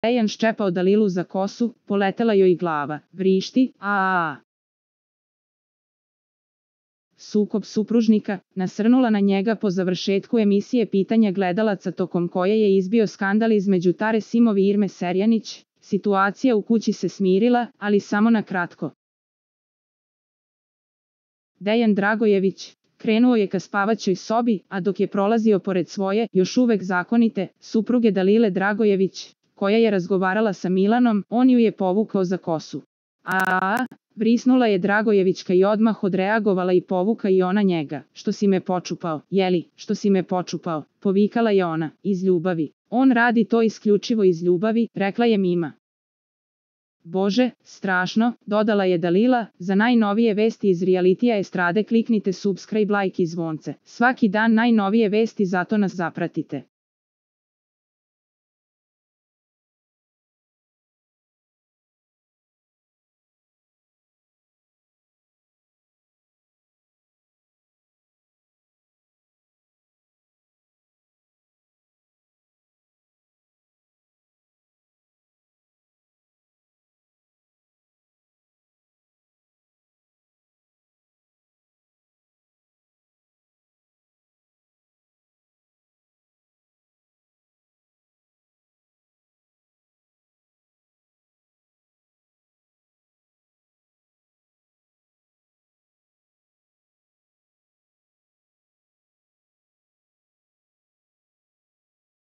Dejan ščepao Dalilu za kosu, poletela joj glava, vrišti, a. Sukob supružnika, nasrnula na njega po završetku emisije Pitanja gledalaca tokom koje je izbio skandal između Tare Simov i Irme Serjanić, situacija u kući se smirila, ali samo na kratko. Dejan Dragojević krenuo je ka spavaćoj sobi, a dok je prolazio pored svoje, još uvek zakonite, supruge Dalile Dragojević, koja je razgovarala sa Milanom, on ju je povukao za kosu. Brisnula je Dragojevićka i odmah odreagovala i povuka i ona njega. Što si me počupao, jeli, što si me počupao, povikala je ona, iz ljubavi. On radi to isključivo iz ljubavi, rekla je Mima. Bože, strašno, dodala je Dalila, za najnovije vesti iz realitija estrade kliknite subscribe, like i zvonce. Svaki dan najnovije vesti, zato nas zapratite.